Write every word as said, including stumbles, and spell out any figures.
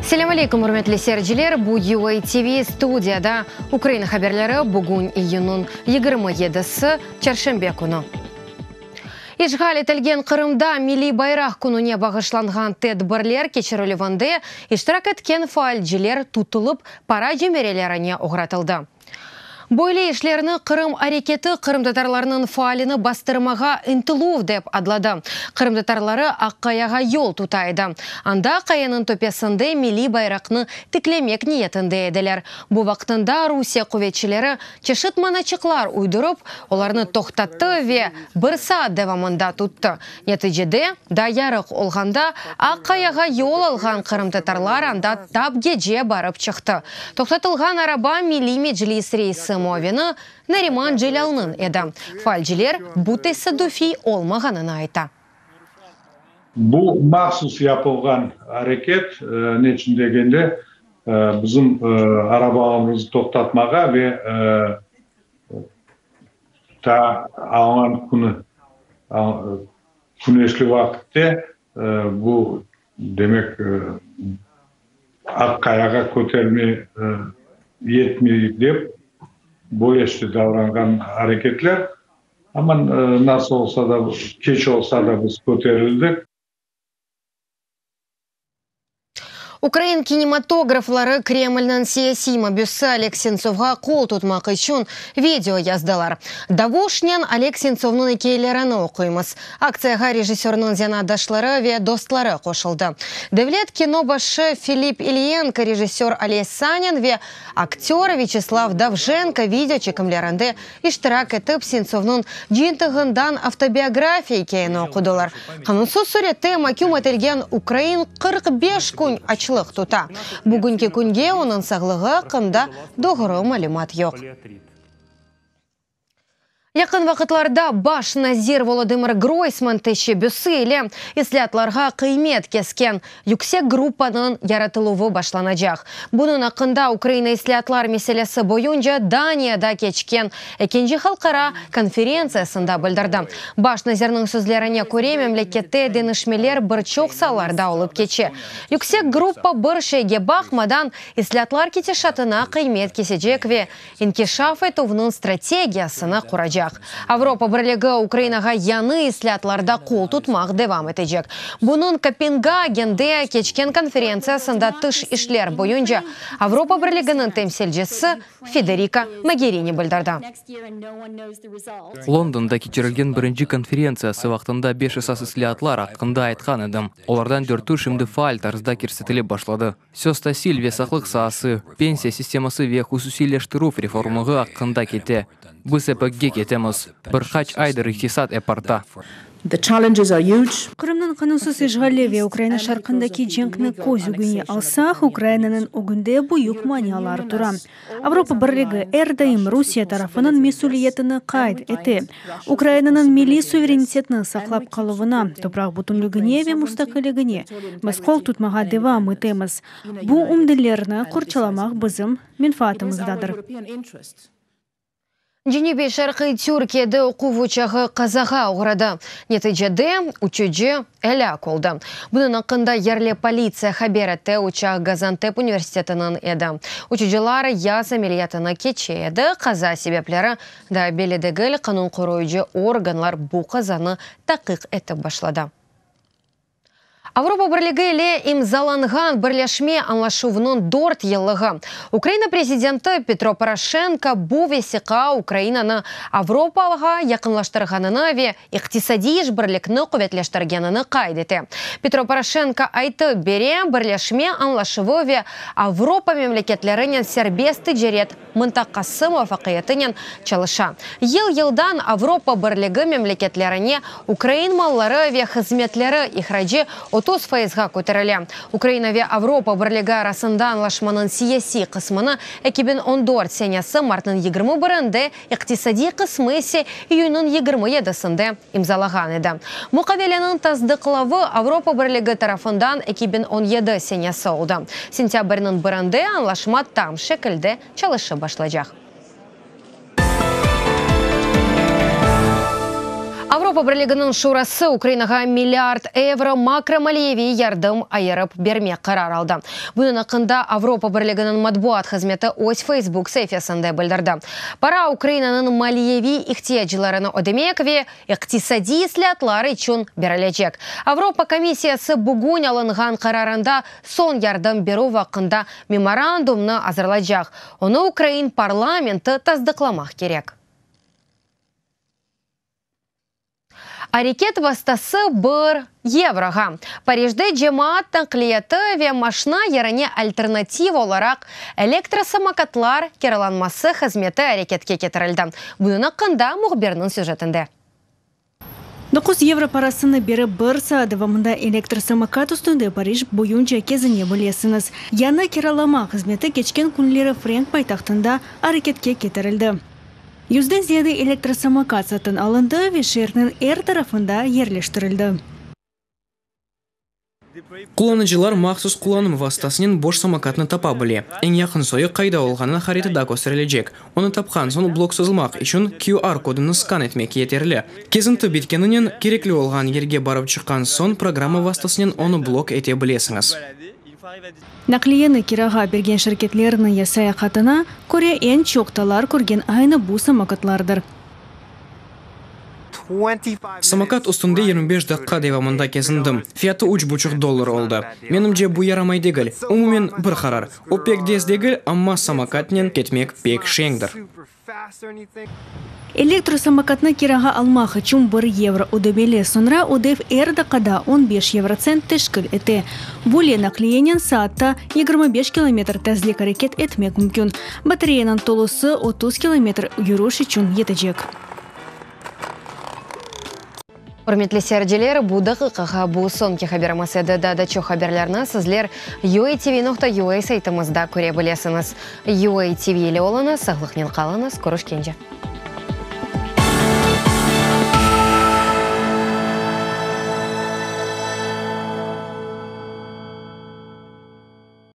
Selâm aleyküm, ürmetli seyirciler. Bu U A T V studiyada Ukraina haberleri bugün iyünniñ yigirmi yedisi, çarşenbe künü. İşğal etilgen Qırımda Milliy bayraq kününe bağışlanğan tedbirler keçirilüvinde iştirak etken faalciler tutulıp para cemirelerine oğratıldı. Böyle işlerni Qırım areketi qırımtatarlarnıñ faalini bastırmağa ıntıluv dep adladı. Qırımtatarları Aqqayağa yol tuta edi. Anda qayanıñ töpesinde milliy bayraqnı tiklemek niyetinde ediler. Bu vaqtında Rusiye quvetçileri çeşit manaçıqlar uydurıp, olarnı toqtattı ve bir saat devamında tuttı. Neticede, daa yarıq olğanda Aqqayağa yol alğan qırımtatarlar anda tap gece barıp çıqtı. Toqtatılğan araba Milliy Meclis reisi muavini Nariman Celâlnıñ edi. Faalciler bu tesadüfiy olmağanını ayta. Bu mahsus yapılğan areket, ne içün degende, bizim arabalarımızı toqtatmağa ve ta alğan künü, küneşli vaqıtte bu demek Aqqayağa köterme yetmey dep böyle işte davranğan areketler. Ama nasıl olsa da, keç olsa da biz köterildik. Ukrain kinematografları Kremlniñ siyasiy mabüsi Oleg Sentsovğa qol tutmaq içün video yazdılar. Davuşnen Oleg Sentsovnıñ ikâyelerini oquymız. Aktsiyağa rejissörniñ zenaatdaşları ve dostları qoşuldı. Devlet kino başı Filipp İlyenko, rejissör Oles Sanin ve aktör Vyaçeslav Dovjenko video çekimlerinde iştirak etip Sentsovnıñ cıyıntığından avtobiografiya ikâyeni oqudılar. Qanunsız sürette maküm etilgen ukrain qırq beş kün açlıq tuta. Bugünki künge onıñ sağlığı aqqında doğru malümat yoq. Yaqın vaqıtlarda baş nazir Volodımır Groysman teşebbüsi ile islâatlarğa qıymet kesken yüksek gruppanıñ yaratıluvı başlanacaq. Bunıñ aqqında Ukraina islâatlar meselesi boyunca Daniyada keçken ekinci halqara konferentsiyasında bildirdi. Baş nazirniñ sözlerine köre, memlekette deñişmeler bir çoq saalarda olıp keçe. Yüksek gruppa bir şeyge baqmadan islâatlar ketişatına qıymet kesecek ve inkişaf etüvniñ strategiyasını quracaq. Avropa Birligi Ukrainağa yañı islâatlarda qol tutmaq devam etecek. Bunıñ Kopengagende keçken konferentsiyasında tış işler boyunca Avropa Birliginiñ temsilcisi Federica Mogherini bildirdi. Londonda keçirilgen birinci konferentsiyası vaqtında beş esas islâatlar aqqında aytqan edim. Olardan dörtü şimdi faal tarzda kirsetilip başladı. Söz tasil ve saqlıq saası, pensiya sisteması ve hususiyleştirüv reformağı aqqında kete. Biz epikge ketemiz. Bir qaç aydır iqtisat ep arta. The challenges are huge. Qırımnıñ qanunsız işğali ve Ukraina şarqındaki cenkni köz ögüne alsaq, Ukrainanıñ ögünde büyük manialar tura. Avropa Birligi er daim Rusiye tarafınıñ mesüliyetini qayd ete. Ukrainanıñ milliy suverenitetini saqlap qaluvına, topraq bütünligine ve mustaqilligine biz qol tutmağa devam etemiz. Bu ümdelerni qorçalamaq bizim menfaatımızdadır. Cenübiy şarqiy Türkiyede oquv uçağı qazağa oğradı. Neticede uçucı elâk oldı. Bunıñ aqqında yerli politsiya haber etti. Uçaq Gaziantep universitetiniñ edi. Uçucılar yaz ameliyatını keçe edi. Qaza sebepleri daa belli degil. Qanun qoruyıcı organlar bu qazanı taqiq etip başladı. Avropa Birligi ile imzalanğan birleşme añlaşuvınıñ dört yıllığı. Ukraina prezidenti Petro Poroşenko bu vesiqa Ukrainanı Avropağa yaqınlaştırğanını ve iqtisadiy işbirlikni quvetleştirgenini qayd ete. Petro Poroşenko aytıp bere, birleşme añlaşuvı ve Avropa memleketlerinen serbest ticaret mıntaqası muvafaqiyetinen çalışa. Yıl-yıldan Avropa Birligi memleketlerine ukrain malları ve hızmetleri ihracı otuz fayızğa köterile. Ukraina ve Avropa Birligi arasında añlaşmanıñ siyasiy qısmını eki biñ on dört senesi martnıñ yigirmi birinde, iqtisadiy qısmı ise iyünniñ yigirmi yedisinde imzalağan edi. Muqaveleniñ tasdıqlavı Avropa Birligi tarafından eki biñ on yedi senesi oldı. Sentâbrniñ birinde añlaşma tam şekilde çalışıp başlaycaq. Avropa Birliginiñ Şurası Ukrainağa milliard evro makromaliyeviy yardım ayırıp bermek qarar aldı. Bunıñ aqqında Avropa Birliginiñ matbuat hızmeti öz Facebook saifesinde bildirdi. Para Ukrainanıñ maliyeviy ihtiyaclarını ödemek ve iqtisadiy islâatlar içün berilecek. Avropa komissiyası bugün alınğan qararında soñ yardım berüv aqqında memorandumnı azırlaycaq. Onı ukrain parlamenti tasdıqlamaq kerek. Areket vastası bir yevroğa. Parijde cemaat naqliyatı ve maşna yerine alternativ olaraq elektrosamokatlar kiralanması hızmeti areketke ketirildi. Bunıñ aqqında mühbirniñ süjetinde. Doquz yevro parasını berip bir saat devamında elektrosamokat üstünde Parij boyunca kezine bilesiñiz. Yañı kiralama hızmeti keçken künleri frenk paytahtında areketke ketirildi. Yüzden ziyade elektrosamokat satın alındı ve şeerniñ er tarafında yerleştirildi. Qullanıcılar mahsus qullanım vastasınen boş samokatnı tapa bile. Eñ yaqın soyu qayda olğanı haritada kösterilecek. Onı tapqan soñ blok sozulmaq içün Q R kodunı skan etmek yeterli. Kezinti bitkeninen, kerekli olğan yerge barıp çıqqan soñ programma vastasınen onı blok ete bilesiñiz. Naqliyeni kirağa bergen şirketlerniñ sayahatına köre, eñ çoq talap körgen aynı bu samokatlardır. Samokat üstünde yigirmi beş daqqa devamında kezindim. Fiyatı üç buçuq dollar oldı. Menimce, bu yaramay degil. Umumen bir qarar. O pek tez degil, amma samokatnen ketmek pek şeñdir. Elektrosamokatnı kirağa almaq içün bir yevro ödemeli. Soñra ödev er daqqada on beş yevrotsent teşkil ete. Böyle naqliyenen saatta yigirmi beş kilometr tezlik areket etmek mümkün. Batareyanıñ tolusı otuz kilometr yürüş içün yetecek. Ürmetli seyirciler, bu daqiqağa bu soñki haberimiz edi. Daa da çoq haberlerni sizler U A T V nokta U A saytımızda köre bilesiñiz. U A T V ile oluñız, sağlıqnen qalıñız, körüşkence.